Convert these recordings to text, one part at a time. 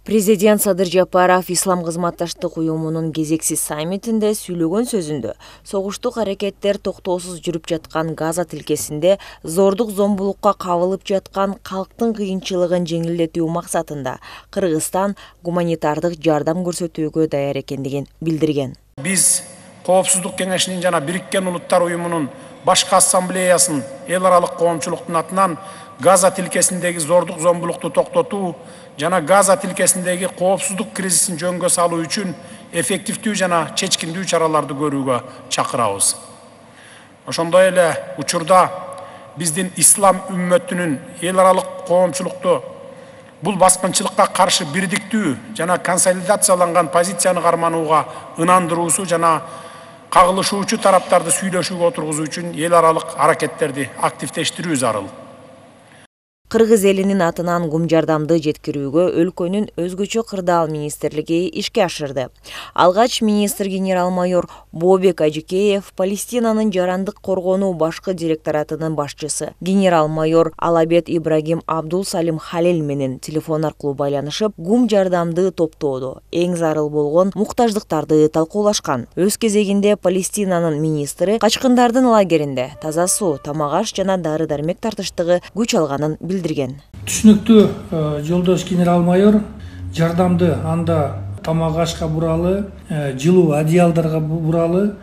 Президент Садыр Жапаров Ислам кызматташтык уюмунун кезексиз саммитинде сүйлөгөн сөзүндө согуштук аракеттер токтоосуз жүрүп жаткан Газа тилкесинде зордук зомбулукка кабылып жаткан калктын кыйынчылыгын жеңилдетүү максатында Кыргызстан гуманитардык жардам көрсөтүүгө даяр экендигин билдирген. Биз Коопсуздук кеңешинин жана Бириккен Улуттар уюмунун башкы ассамблеясын эл аралык коомчулуктун атынан Газа тилкесиндеги зордук зомбулукту токтотуу жана Газа тилкесиндеги коопсуздук кризисин жөнгө салуу үчүн эффективдүү жана чечкиндүү чараларды көрүүгө чакырабыз. Ошондой эле учурда биздин ислам үммөтүнүн эл аралык коомчулукту бул баскынчылыкка каршы бирдиктүү жана консолидацияланган позицияны карманууга ынандыруусу жана кагылышуучу тараптарды сүйлөшүүгө отургузуу үчүн эл аралык аракеттерди активдештирүү зарыл. Кыргыз элинин атынан гум жардамды жеткирүүгө өлкөнүн өзгөчө кырдаал министрлиги ишке ашырды. Алгач министр генерал-майор Бообек Ажикеев Палестинанын жарандык коргонуу башкы директоратынын башчысы генерал-майор Алабет Ибрагим Абдул Салим Халил менен телефон аркылуу байланышып, гум жардамды топтоодо эң зарыл болгон муктаждыктарды талкуулашкан. Өз кезегинде Палестинанын министри качкындардын лагеринде таза суу, тамак-аш жана дары-дармек тартыштыгы күч алганын билдирген. Түшүнүктүү жолдош генерал-майор, жардамды анда тамак-ашка буралы, жылуу одеялдарга буралы,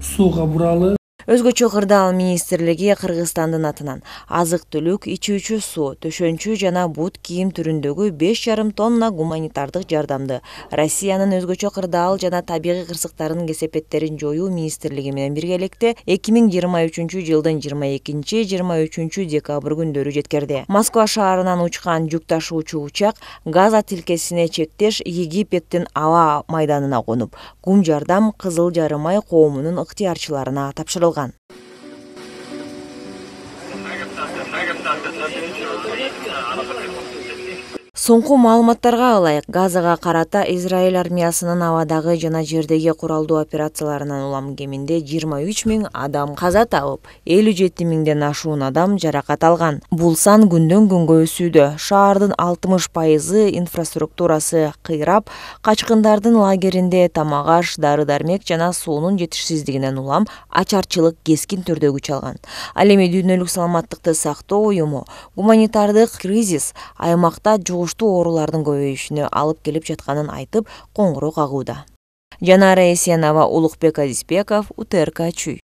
сууга буралы. Өзгөчө кырдаал министрлиги Кыргызстандын атынан азык-түлүк, ичүүчү суу, төшөнчү жана бут кийим түрүндөгү 5,5 тонна гуманитардык жардамды Россиянын өзгөчө кырдаал жана табигый кырсыктардын кесепеттерин жоюу министрлиги менен биргеликте 2023 жылдын 22-23 декабрь күндөрү жеткирди. Москва шаарынан учкан жүк ташуучу учак Газа тилкесине чектеш Египеттин аба майданына конуп, гум жардам Кызыл жарым ай коомунун ыктыярчыларына тапшырылган. Соңку маалыматтарга ылайык, Газага карата Израиль армиясынын абадагы жана жердеги куралдуу операцияларынан улам кеминде 23 000 адам каза табып, 57 000ден ашуун адам жаракат алган. Бул сан күндөн күнгө өсүүдө. Шаардын 60% инфраструктурасы кыйрап, качкындардын лагеринде тамак-аш, дары-дармек жана суунун жетишсиздигинен улам ачарчылык кескин түрдө күч алган. Ал эми Дүйнөлүк саламаттыкты сактоо уюму гуманитардык кризис аймакта оорулардын көбөйүшүнө алып келип жатканын айтып, коңгуроо кагууда. Жанара Эсенова, Улукбек Азизбеков, УТРК Чүй.